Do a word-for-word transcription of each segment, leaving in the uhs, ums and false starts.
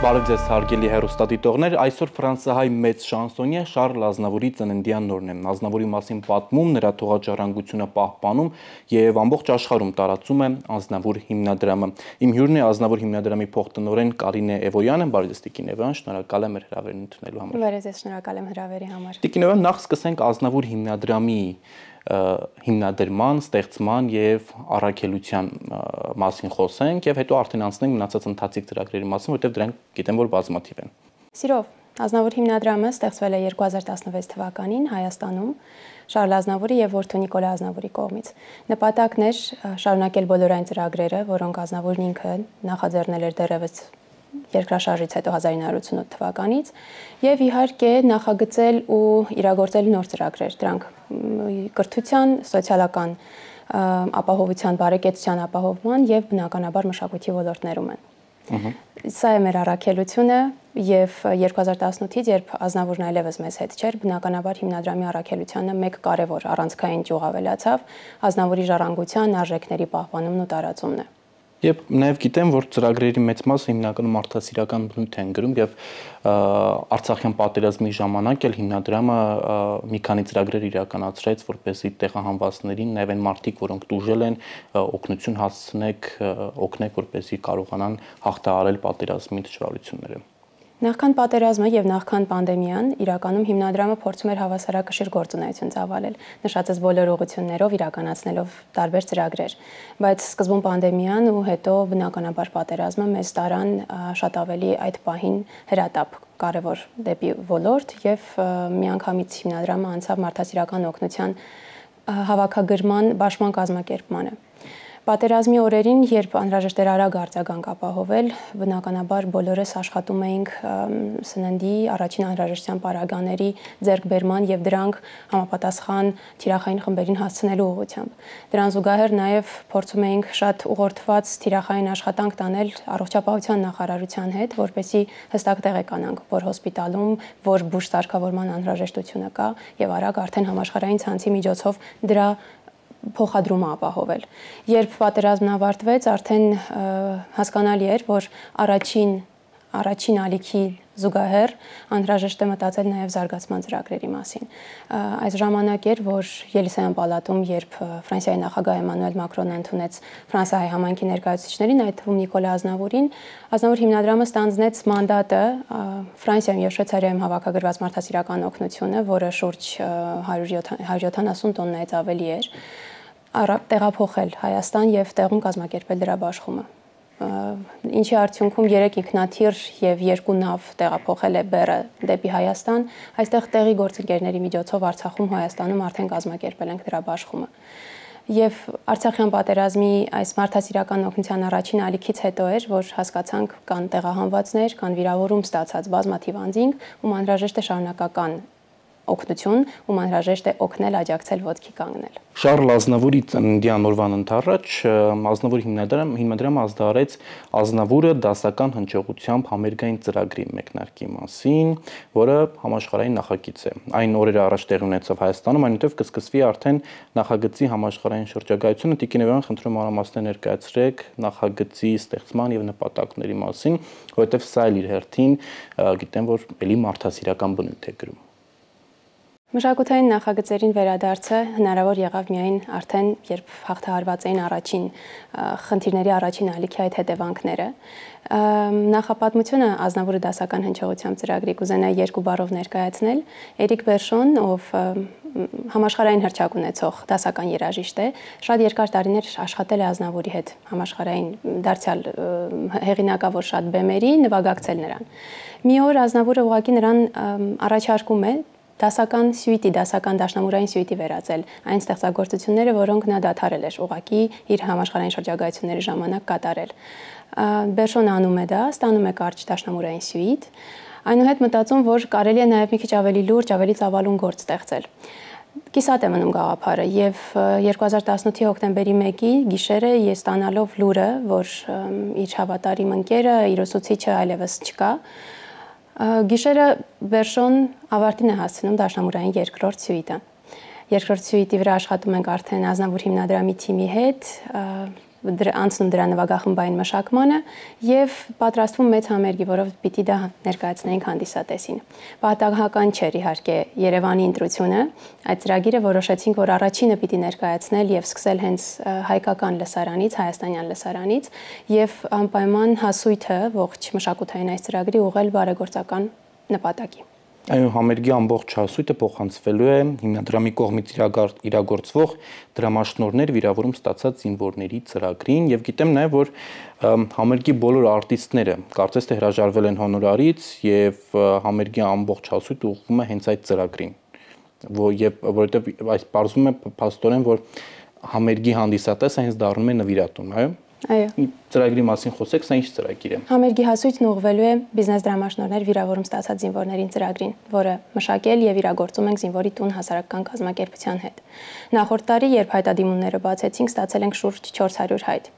Բարև ձեզ հարգելի հեռուստադիտողներ, այսօր ֆրանսահայ մեծ շանսոնյե Շարլ Ազնավուրի ծննդյան օրն է։ Ազնավուրի մասին պատմում, նրա թողաջարանկությունը պահպանում եւ ամբողջ աշխարհում տարածում է Ազնավուր հիմնադրամը։ Իմ հյուրն է Ազնավուր հիմնադրամի փոխտնօրեն Կարինե Էվոյանը, բարև ձեզ Տիկին Էվոյան, շնորհակալ եմ հրավերն ընդունելու համար։ Բարև ձեզ, շնորհակալ եմ հրավերի համար։ Տիկին Էվոյան, նախ սկսենք Ազնավուր հիմնադրամի հիմնադրման, ստեղծման եւ առաքելության մասին խոսենք եւ հետո արդեն անցնենք մնացած ընթացիկ ծրագրերի մասին, որտեղ դրանք գիտեմ որ բազմաթիվ են։ Սիրով, Ազնավուր հիմնադրամը ստեղծվել է երկու հազար տասնվեց թվականին Հայաստանում Շարլ Ազնավուրի եւ որդու Նիկոլա Ազնավուրի կողմից։ Նպատակն էր շարունակել բոլոր այն ծրագրերը, որոնք Ազնավուրն ինքը նախաձեռնել էր դեռևս երկրաշարժից հետո հազար ինը հարյուր ութսունութ թվականից եւ իհարկե նախագծել ու իրագործել նոր ծրագրեր, դրանք կրթության, սոցիալական ապահովության, բարեկեցության ապահովման եւ բնականաբար մշակույթի ոլորտներում են։ Սա է մեր առաքելությունը եւ երկու հազար տասնութից, երբ Ազնավուրն այլևս մեզ հետ չէր, բնականաբար հիմնադրամի առաքելությանը մեկ կարևոր առանցքային ճյուղ ավելացավ Ազնավուրի ժառանգության արժեքների պահպանումն ու տարածումն է։ Եվ նաև գիտեմ, որ ծրագրերի մեծ մասը հիմնականում մարդասիրական բնույթ են գրում եւ Արցախյան պատերազմի ժամանակ էլ հիմնադրամը մի քանի ծրագրեր իրականացրեց, որպեսզի տեղահանվածներին, նաև այն մարդիկ, որոնք տուժել են, օգնություն հասցնեք, օգնեք, որպեսզի կարողանան հաղթահարել պատերազմի դժվարությունները։ Նախքան պատերազմը եւ նախքան պանդեմիան իրականում հիմնադրամը փորձում էր հավասարակշիռ գործունեություն ծավալել, նշածած բոլոր ուղղություններով իրականացնելով տարբեր ծրագրեր, բայց սկզբում պանդեմիան ու հետո բնականաբար պատերազմը մեզ տարան շատ ավելի այդ պահին հրատապ կարևոր դեպի ոլորտ եւ միանգամից հիմնադրամը անցավ մարդասիրական օգնության հավաքագրման բաշխման կազմակերպմանը։ Պատերազմի օրերին, երբ անհրաժեշտ էր արագ արձագանք ապահովել, բնականաբար բոլորս աշխատում էինք սննդի առաջին անհրաժեշտության պարագաների ձեռքբերման եւ դրանք համապատասխան թիրախային խմբերին հասցնելու ուղղությամբ։ Դրան զուգահեռ նաեւ փորձում էինք շատ ուղղորդված թիրախային աշխատանք տանել առողջապահության նախարարության հետ, որպեսզի հստակ տեղեկանանք, որ հոսպիտալում, որ բուժսարքավորման անհրաժեշտությունը կա եւ արագ արդեն համաշխարհային ցանցի միջոցով դրա փոխադրումը ապահովել։ Երբ պատերազմն ավարտվեց, արդեն հասկանալի էր, որ առաջին առաջին ալիքի զուգահեռ անհրաժեշտ է մտածել նաև զարգացման ծրագրերի մասին։ Այս ժամանակ էր, որ Ելիսեյան պալատում, երբ Ֆրանսիայի նախագահ Էմանուել Մակրոնը ընդունեց Ֆրանսիայի համայնքի ներկայացուցիչներին, այդ թվում Նիկոլա Ազնավուրին, Ազնավուր հիմնադրամը ստանձնեց մանդատը Ֆրանսիայում եւ Շվեյցարիայում հավաքագրված մարդասիրական օգնությունը, որը շուրջ հարյուր յոթանասուն տոննայից ավելի էր, տեղափոխել Հայաստան եւ տեղում կազմակերպել դրա բաշխումը։ Ինչի արդյունքում երեք ինքնաթիռ եւ երկու նավ տեղափոխել է բեռը դեպի Հայաստան, այստեղ տեղի գործընկերների միջոցով Արցախում, Հայաստանում արդեն կազմակերպել ենք դրա բաշխումը։ Եվ Արցախյան պատերազմի այս մարդասիրական օգնության առաջին ալիքից հետո էր, որ հասկացանք կան տեղահանվածներ, կան վիրավորում ստացած բազմաթիվ անձինք, ում անհրաժեշտ է շարունակական օգնություն, ում անհրաժեշտ է օգնել, աջակցել, ոտքի կանգնել։ Շարլ Ազնավուրի ծննդյան օրվան ընթառաջ Ազնավուր հիմնադրամ հիմնադրամը ազդարարեց Ազնավուրը դասական հնչողությամբ համերգային ծրագրի մեկնարկի մասին, որը համաշխարհային նախագիծ է։ Այն օրերը առաջ տեղի ունեցավ Հայաստանում, այնուհետև կսկսվի արդեն նախագծի համաշխարհային շրջագայությունը։ Տիկին Էվոյան, խնդրում մանրամասներ ներկայացրեք նախագծի ստեղծման եւ նպատակների մասին, որովհետև սա էլ իր հերթին գիտեմ, որ էլի մարդասիրական բնույթ է գրում։ Մշակութային նախագծերին վերադարձը հնարավոր եղավ միայն արդեն, երբ հաղթահարված էին առաջին խնդիրների առաջին ալիքի այդ հետևանքները։ Նախապատմությունը Ազնավուրը դասական հնչողությամբ ծրագրի կուզենայի երկու բառով ներկայացնել։ Էրիկ Բերշոն, ով համաշխարհային հռչակ ունեցող դասական երաժիշտ է, շատ երկար տարիներ աշխատել է Ազնավուրի հետ համաշխարհային դարձյալ հեղինակավոր շատ բեմերի, նվագակցել նրան։ Մի օր Ազնավուրը ուղղակի նրան առաջարկում է դասական սյուիտի, դասական դաշնամուրային սյուիտի վերածել այն ստեղծագործությունները, որոնք նա դադարել էր ուղղակի իր համաշխարհային շրջագայությունների ժամանակ կատարել։ Բերշոնը անում է դա, ստանում է կարճ դաշնամուրային սյուիտ, այնուհետ մտածում, որ կարելի է նաև մի քիչ ավելի լուրջ, ավելի ծավալուն գործ ստեղծել։ Կիսատ է մնում գաղափարը եւ երկու հազար տասնութի հոկտեմբերի մեկի գիշերը ես ստանալով լուրը, որ իր հավատարիմ ընկերը, իր ուսուցիչը այլևս չկա, գիշերը Բերշոն ավարտին է հասցնում դաշնամուրային երկրորդ սյուիտը։ Երկրորդ սյուիտի վրա աշխատում ենք արդեն Ազնավուր հիմնադրամի թիմի հետ, անցնում դրա նվագախմբային մշակմանը եւ պատրաստվում մեծ համերգի, որով պիտի դա ներկայացնեինք հանդիսատեսին։ Պատահական չէր իհարկե Երևանի ընտրությունը, այդ ծրագիրը որոշեցինք, որ առաջինը պիտի ներկայացնել եւ սկսել հենց հայկական լսարանից, հայաստանյան լսարանից եւ անպայման հասույթը ողջ մշակութային այս ծրագրի ուղղել բարեգործական նպատակի։ Այո, համերգի ամբողջ հասույթը փոխանցվելու է հիմնադրամի կողմից իրագործվող դրամաշնորհներ վիրավորում ստացած զինվորների ծրագրին եւ գիտեմ նաեւ, որ համերգի բոլոր արտիստները կարծես թե հրաժարվել են հոնորարից եւ համերգի ամբողջ հասույթը ուղղվում է հենց այդ ծրագրին։ Եվ որովհետեւ այս բարձում է փաստորեն, որ համերգի հանդիսատեսը հենց դառնում է նվիրատուն, այո։ Այո։ Ծրագրի մասին խոսեք, սա ինչ ծրագիր է։ Համերգի հասույթն ուղղվելու է բիզնես դրամաշնորհներ վիրավորում ստացած զինվորներին ծրագրին, որը մշակել եւ իրագործում ենք զինվորի տուն հասարակական կազմակերպության հետ։ Նախորդ տարի, երբ հայտադիմումները բացեցինք, ստացել ենք շուրջ չորս հարյուր հայտ։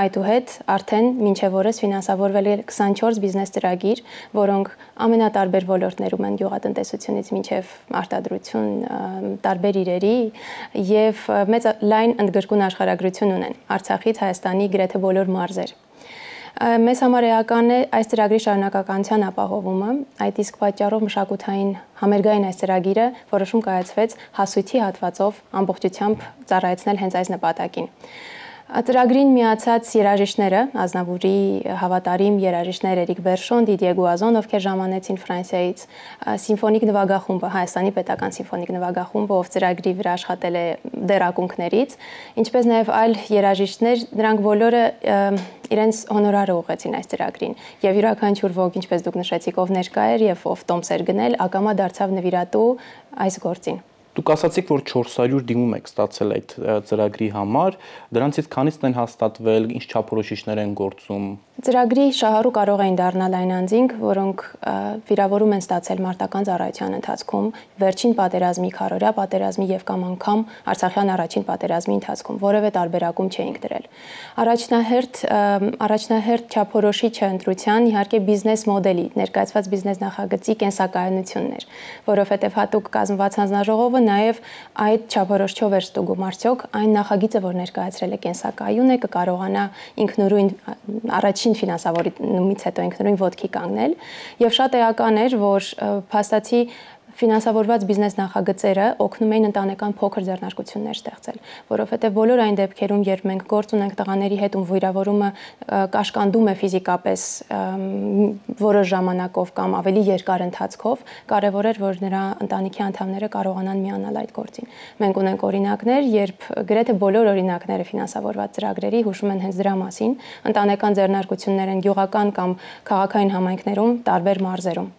Այդուհետ արդեն մինչև օրս ֆինանսավորվել է քսանչորս բիզնես ծրագիր, որոնք ամենատարբեր ոլորտներում են գյուղատնտեսությունից մինչև արտադրություն, տարբեր իրերի եւ մեծ լայն ընդգրկուն աշխարհագրություն ունեն Արցախից Հայաստանի գրեթե բոլոր մարզեր։ Մեզ համար էական է այս ծրագրի շարունակականության ապահովումը, այդ իսկ պատճառով մշակութային համերգային այս ծրագիրը որոշում կայացվեց հասույթի հատվածով ամբողջությամբ ծառայեցնել հենց այս նպատակին։ Ծրագրին միացած երաժիշտները, Ազնավուրի հավատարիմ երաժիշտներ Էրիկ Բերշոն, Դիդիե Գուազոն, ովքեր ժամանեցին Ֆրանսիայից, սիմֆոնիկ նվագախումբը, Հայաստանի պետական սիմֆոնիկ նվագախումբը, ով ծրագրի վրա աշխատել է դեռ ակունքներից, ինչպես նաև այլ երաժիշտներ, նրանք բոլորը իրենց հոնորարը ուղղեցին այս ծրագրին եւ յուրաքանչյուր ոք, ինչպես դուք նշեցիք, ով ներկա էր եւ ով տոմս էր գնել, ակամա դարձավ նվիրատու այս գործին։ Դուք ասացիք, որ չորս հարյուր դիմում եք ստացել այդ ծրագրի համար, դրանցից քանիսն են հաստատվել, ինչ չափորոշիչներ են գործում։ Ծրագրի շահառու կարող էին դառնալ այն անձինք, որոնք վիրավորում են ստացել մարտական ծառայության ընթացքում, վերջին պատերազմի, քարորյա պատերազմի եւ կամ անգամ Արցախյան առաջին պատերազմի ընթացքում, որևէ տարբերակում չէինք դրել։ Առաջնահերթ առաջնահերթ չափորոշիչը ընտրության իհարկե բիզնես մոդելի, ներկայացված բիզնես նախագծի կենսակայունությունն էր, որովհետեւ հատուկ կազմված հանձնաժողովը նաև այդ չափորոշչով էր ստուգում արդյոք այն նախագիծը, որ ներկայացրել է կենսակայուն է, կկարողանա ինքնուրույն առաջին ֆինանսավորումից հետո ինքնուրույն ոտքի կանգնել եւ շատ էական էր, որ փաստացի ֆինանսավորված բիզնես նախագծերը օգնում էին ընտանեկան փոքր ձեռնարկություններ ստեղծել, որովհետև բոլոր այն դեպքերում, երբ մենք գործ ունենք տղաների հետ, ում վիրավորումը կաշկանդում է ֆիզիկապես որոշ ժամանակով կամ ավելի երկար ընթացքով, կարևոր էր, որ նրա ընտանիքի անդամները կարողանան միանալ այդ գործին։ Մենք ունենք օրինակներ, երբ գրեթե բոլոր օրինակները ֆինանսավորված ծրագրերի հուշում են հենց դրա մասին, ընտանեկան ձեռնարկություններ են գյուղական կամ քաղաքային համայնքներում, տարբեր մարզերում։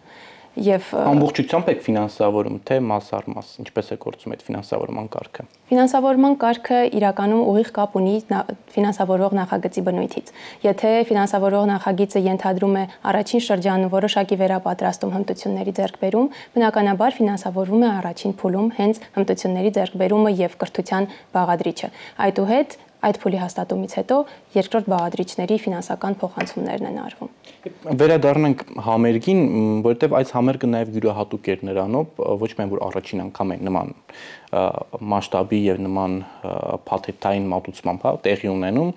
Եվ ամբողջությամբ եք ֆինանսավորում, թե մաս առ մաս, ինչպես է գործում այդ ֆինանսավորման կարգը։ Ֆինանսավորման կարգը իրականում ուղիղ կապ ունի ֆինանսավորող նախագծի բնույթից։ Եթե ֆինանսավորող նախագիծը ենթադրում է առաջին շրջանում որոշակի վերապատրաստում հմտությունների ձեռքբերում, բնականաբար ֆինանսավորվում է առաջին փուլում հենց հմտությունների ձեռքբերումը եւ կրթության բաղադրիչը։ Այդուհետ այդ փուլի հաստատումից հետո երկրորդ բաղադրիչների ֆինանսական փոխանցումներն են արվում։ Վերադառնանք համերգին, որովհետև այս համերգը նաև յուրահատուկ էր նրանով, ոչ միայն որ առաջին անգամ է նման մասշտաբի եւ նման փաթեթային մատուցմամբ տեղի ունենում,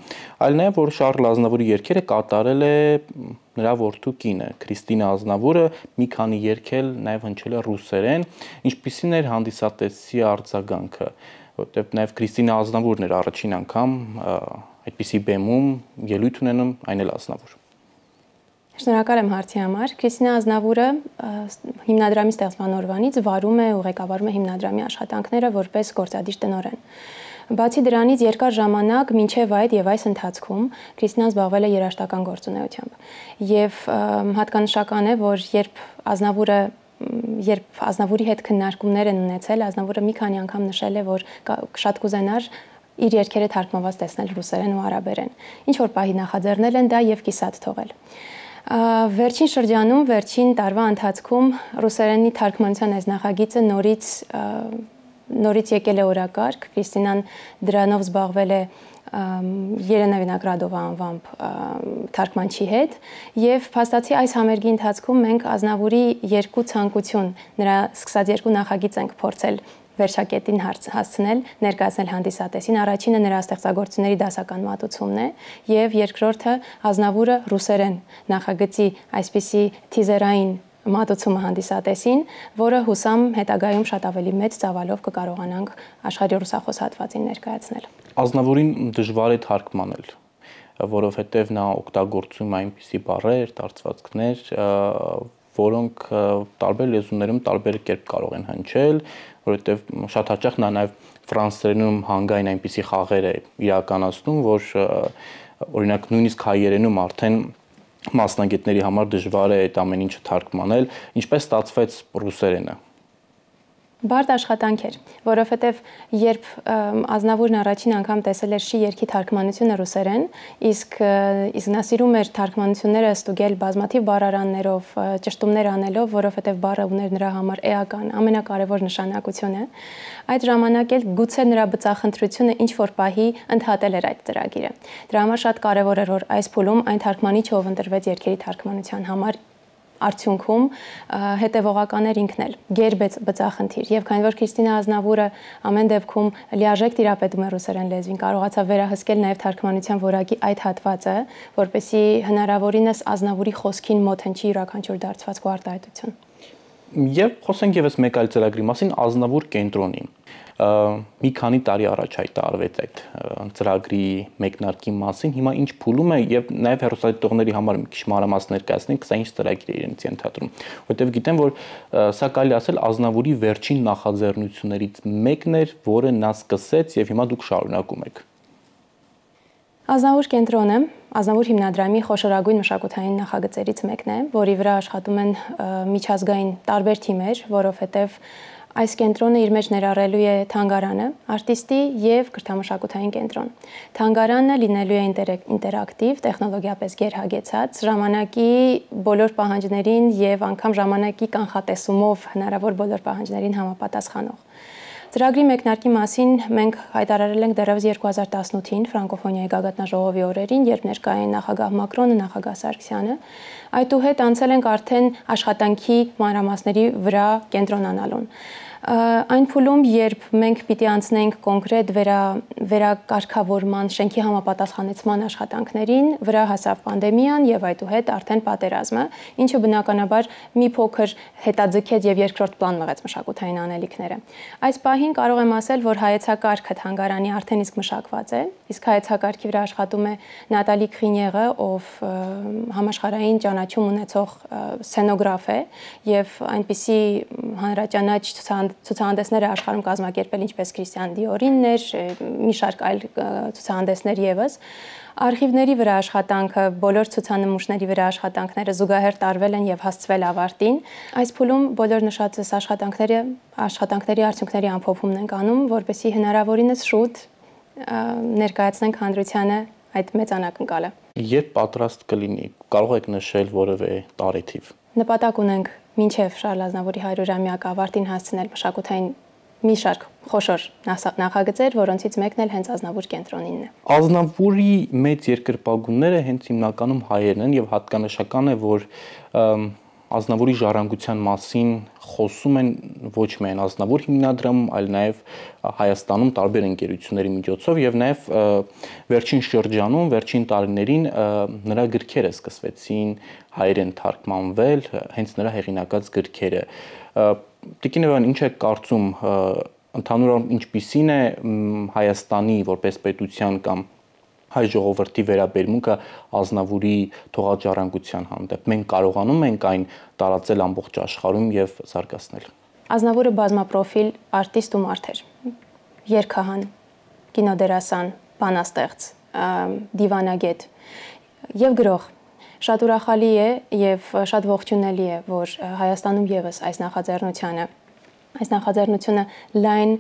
այլ նաև որ Շառլ Ազնավուրի երգերը կատարել է նրա որդու կինը Քրիստինա Ազնավուրը, մի քանի երգ էլ նաև հնչել է ռուսերեն, ինչպիսին էր հանդիսատեսի արձագանքը, որտեղ նաև Քրիստինա Ազնավուրն էր առաջին անգամ այդպիսի բեմում ելույթ ունենում, այն էլ Ազնավուր։ Շնորհակալ եմ հարցի համար։ Քրիստինա Ազնավուրը հիմնադրամի ստեղծման օրվանից վարում է ու ղեկավարում է հիմնադրամի աշխատանքները որպես գործադիր տնօրեն։ Բացի դրանից երկար ժամանակ մինչև այդ եւ այս ընթացքում Քրիստինան զբաղվել է երաժշտական գործունեությամբ։ Եվ հատկանշական է, որ երբ Ազնավուրը Երբ Ազնավուրի հետ քննարկումներ են ունեցել, Ազնավուրը մի քանի անգամ նշել է, որ շատ կուզենար իր երգերը թարգմանված տեսնել ռուսերեն ու արաբերեն։ Ինչ որ պահի նախաձեռնել են դա եւ կիսատ թողել։ Վերջին շրջանում, վերջին տարվա ընթացքում ռուսերենի թարգմանության այս նախագիծը նորից նորից եկել է օրակարգ, Քրիստինան դրանով զբաղվել է Երենա Վինոգրադովա անվամբ թարգմանչի հետ եւ փաստացի այս համերգի ընթացքում մենք Ազնավուրի երկու ցանկություն, նրա սկսած երկու նախագիծ ենք փորձել վերջակետին հասցնել, ներկայացնել հանդիսատեսին։ Առաջինը նրա ստեղծագործությունների դասական մատուցումն է, եւ երկրորդը Ազնավուրը ռուսերեն նախագծի այսպիսի թիզերային մատուցումը հանդիսատեսին, որը հուսամ հետագայում շատ ավելի մեծ ծավալով կկարողանանք աշխարհի ռուսախոս հատվածին ներկայացնել։ Ազնավուրին դժվար է թարգմանել, որովհետև նա օգտագործում է այնպիսի բառեր, դարձվածքներ, որոնք տարբեր լեզուներում տարբեր կերպ կարող են հնչել, որովհետև շատ հաճախ նա նաև ֆրանսերենում հանգային այնպիսի խաղեր է իրականացնում, որ օրինակ նույնիսկ հայերենում արդեն մասնագետների համար դժվար է այդ ամեն ինչը թարգմանել, ինչպես ստացվեց ռուսերենը։ Բարդ աշխատանք էր, որովհետև երբ Ազնավուրն առաջին անգամ տեսել էր Շի երգի թարգմանությունը ռուսերեն, իսկ իսկ նա սիրում էր թարգմանությունները ստուգել բազմաթիվ բառարաններով, ճշտումներ անելով, որովհետև բառը ուներ նրա համար էական, ամենակարևոր նշանակությունը, այդ ժամանակ էլ գուցե նրա բծախնդրությունը ինչ որ պահի ընդհատել էր այդ ծրագիրը։ Դրա համար շատ կարևոր էր, որ այս փուլում այն թարգմանիչը, ով ընտրվեց երգերի թարգմանության համար, արդյունքում հետևողական էր ինքն էլ, գերբեց բծախնդիր, եւ քանի որ Քրիստինա Ազնավուրը ամեն դեպքում լիարժեք տիրապետում է ռուսերեն լեզվին, կարողացավ վերահսկել նաեւ թարգմանության որակի այդ հատվածը, որպեսզի հնարավորինս Ազնավուրի խոսքին մոտ հնչի յուրաքանչյուր դարձվածք ու արտահայտություն։ Եվ խոսենք եւս մեկ այլ ծրագրի մասին, Ազնավուր կենտրոնի։ Մի քանի տարի առաջ հայտարարվեց այդ ծրագրի մեկնարկի մասին, հիմա ինչ փուլում է եւ նաեւ հեռուստադիտողների համար մի քիչ մանրամասն ներկայացնենք, սա ինչ ծրագիր է իրենց ենթադրում, որովհետեւ գիտեմ, որ սա կարելի ասել Ազնավուրի վերջին նախաձեռնություններից մեկն էր, որը նա սկսեց եւ հիմա դուք շարունակում եք։ Ազնավուր կենտրոնը Ազնավուր հիմնադրամի խոշորագույն մշակութային նախագծերից մեկն է, որի վրա աշխատում են միջազգային տարբեր թիմեր, որովհետև այս կենտրոնը իր մեջ ներառելու է թանգարանը, արտիստի եւ կրթամշակութային կենտրոն։ Թանգարանը լինելու է ինտերակտիվ, տեխնոլոգիապես գերհագեցած, ժամանակի բոլոր պահանջներին եւ անգամ ժամանակի կանխատեսումով հնարավոր բոլոր պահանջներին համապատասխանող։ Ծրագրի մեկնարկի մասին մենք հայտարարել ենք դեռևս երկու հազար տասնութին ֆրանկոֆոնիայի գագաթնաժողովի օրերին, երբ ներկա էին նախագահ Մակրոնը, նախագահ Սարգսյանը։ Այդուհետ անցել ենք արդեն աշխատանքի մանրամասների վրա կենտրոնանալուն։ Այն փուլում, երբ մենք պիտի անցնենք կոնկրետ վերա վերակարգավորման, շենքի համապատասխանեցման աշխատանքներին, վրա հասավ պանդեմիան եւ այդուհետ արդեն պատերազմը, ինչը բնականաբար մի փոքր հետաձգեց եւ երկրորդ պլան մղեց մշակութային անելիքները։ Այս պահին կարող եմ ասել, որ հայեցակարգը թանգարանի արդեն իսկ մշակված է, իսկ հայեցակարգի վրա աշխատում է Նատալի Քրինյեղը, ով համաշխարհային ճանաչում ունեցող սցենոգրաֆ է եւ այնպիսի հանրաճանաչ ցուցահանդեսներ է աշխարհում կազմակերպել, ինչպես Քրիստիան Դիորինն էր, մի շարք այլ ցուցահանդեսներ եւս։ Արխիվների վրա աշխատանքը, բոլոր ցուցանմուշների վրա աշխատանքները զուգահեռ տարվել են եւ հասցվել ավարտին։ Այս փուլում բոլոր նշածս աշխատանքները աշխատանքների արդյունքների ամփոփումն ենք անում, որպեսզի հնարավորինս շուտ ներկայացնենք հանրությանը այդ մեծ անակնկալը։ Երբ պատրաստ կլինի, կարող եք նշել որևէ տարեթիվ։ Նպատակ ունենք մինչև Շարլ Ազնավուրի հարյուրամյակը ավարտին հասցնել մշակութային մի շարք խոշոր նախագծեր, որոնցից մեկն էլ հենց Ազնավուր կենտրոնինն է։ Ազնավուրի մեծ երկրպագունները հենց հիմնականում հայերն են եւ հատկանշական է, որ Ազնավուրի ժառանգության մասին խոսում են ոչ միայն Ազնավուր հիմնադրամում, այլ նաև Հայաստանում տարբեր ընկերությունների միջոցով եւ նաև վերջին շրջանում, վերջին տարիներին նրա գրքերը սկսվեցին հայերեն թարգմանվել, հենց նրա հեղինակած գրքերը։ Տիկին Էվան, ինչ եք կարծում, ընդհանուր առմամբ ինչպիսին է Հայաստանի որպես պետության կամ հայ ժողովրդի վերաբերմունքը Ազնավուրի թողաջառանգության հանդեպ։ Մենք կարողանում ենք այն տարածել ամբողջ աշխարհում եւ զարգացնել։ Ազնավուրը բազմապրոֆիլ արտիստ ու մարդ էր։ Երգահան, կինոդերասան, բանաստեղծ, դիվանագետ եւ գրող։ Շատ ուրախալի է եւ շատ ողջունելի է, որ Հայաստանում եւս այս նախաձեռնությունը Այս նախաձեռնությունը լայն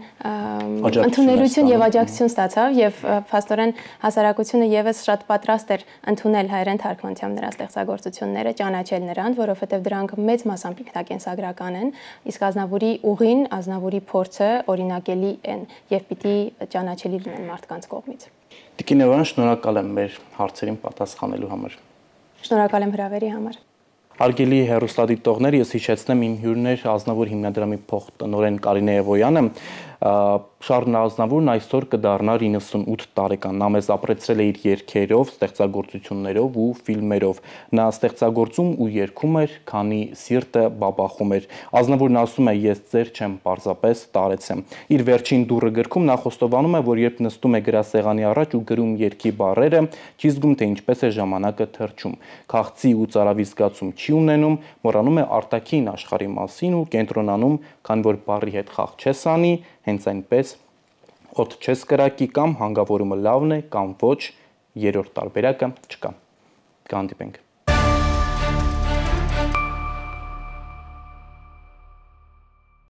ընդունելություն եւ աջակցություն ստացավ եւ փաստորեն հասարակությունը եւս շատ պատրաստ էր ընդունել հայերեն թարգմանությամբ նրա ստեղծագործությունները, ճանաչել նրան, որովհետեւ դրանք մեծ մասամբ ինքնակենսագրական են, իսկ Ազնավուրի ուղին, Ազնավուրի փորձը օրինակելի են եւ պիտի ճանաչելի լինեն մարդկանց կողմից։ Տիկին Էվան, շնորհակալ եմ մեր հարցերին պատասխանելու համար։ Շնորհակալ եմ հրավերի համար։ Արգելի հեռուստադիտողներ, ես հիշեցնեմ իմ հյուրներ Ազնավուր հիմնադրամի փոխտնօրեն Կարինե Էվոյանը, Շառլ Ազնավուրն այսօր կդառնար իննսունութ տարեկան։ Նա մեզ ապրեցրել է իր երգերով, ստեղծագործություններով ու ֆիլմերով։ Նա ստեղծագործում ու երգում էր, քանի սիրտը բաբախում էր։ Ազնավուրն ասում է՝ ես ձեր չեմ, պարզապես տարեցեմ։ Իր վերջին դուռը գրքում նա խոստովանում է, որ երբ նստում է գրասեղանի առաջ ու գրում երգի բառերը, չի զգում, թե ինչպես է ժամանակը թռչում։ Քաղցի ու ծարավի զգացում չի ունենում, մոռանում է արտաքին աշխարհի մասին ու կենտրոնանում, քանի որ բառի հետ խաղ չես անի, հենց այնպես օդ չես կրակի, կամ հանգավորումը լավն է, կամ ոչ, երրորդ տարբերակը չկա։ Կհանդիպենք։